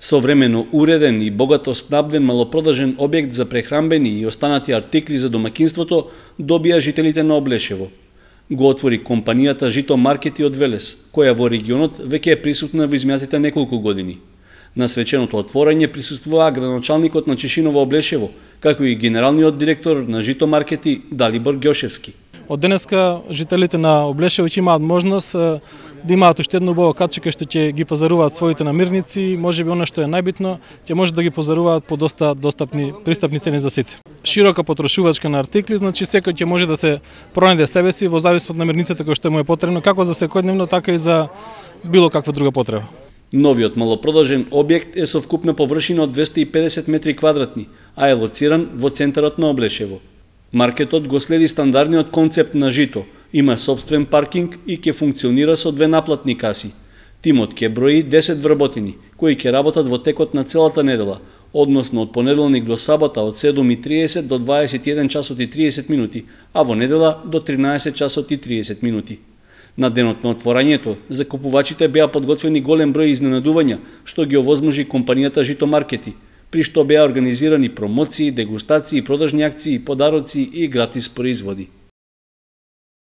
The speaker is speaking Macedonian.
Современо уреден и богато снабден малопродажен објект за прехранбени и останати артикли за домаќинството добија жителите на Облешево. Го отвори компанијата Жито Маркети од Велес, која во регионот веќе е присутна во изминатите неколку години. На свеченото отворање присуствуваа градоначалникот на Чешиново Облешево, како и генералниот директор на Жито Маркети Далибор Ѓошевски. Од денеска жителите на Облешево ќе имаат можност да имаат уште едно убаво катче кај што ќе ги пазаруваат своите намирници, можеби она што е најбитно, ќе може да ги пазаруваат по доста достапни, пристапни цени за сите. Широка потрошувачка на артикли, значи секој ќе може да се пронајде себе си во зависност од намирницата која што му е потребно, како за секојдневно, така и за било каква друга потреба. Новиот малопродажен објект е со вкупна површина од 250 метри квадратни, а е лоциран во центарот на Облешево. Маркетот го следи стандардниот концепт на Жито, има собствен паркинг и ќе функционира со 2 наплатни каси. Тимот ќе брои 10 вработени, кои ќе работат во текот на целата недела, односно од понеделник до сабота од 7:30 до 21 часот и 30 минути, а во недела до 13 часот и 30 минути. На денот на отворањето, за купувачите беа подготвени голем број изненадувања, што ги овозможи компанијата Жито Маркети, при што беа организирани промоции, дегустации, продажни акции, подароци и гратис производи.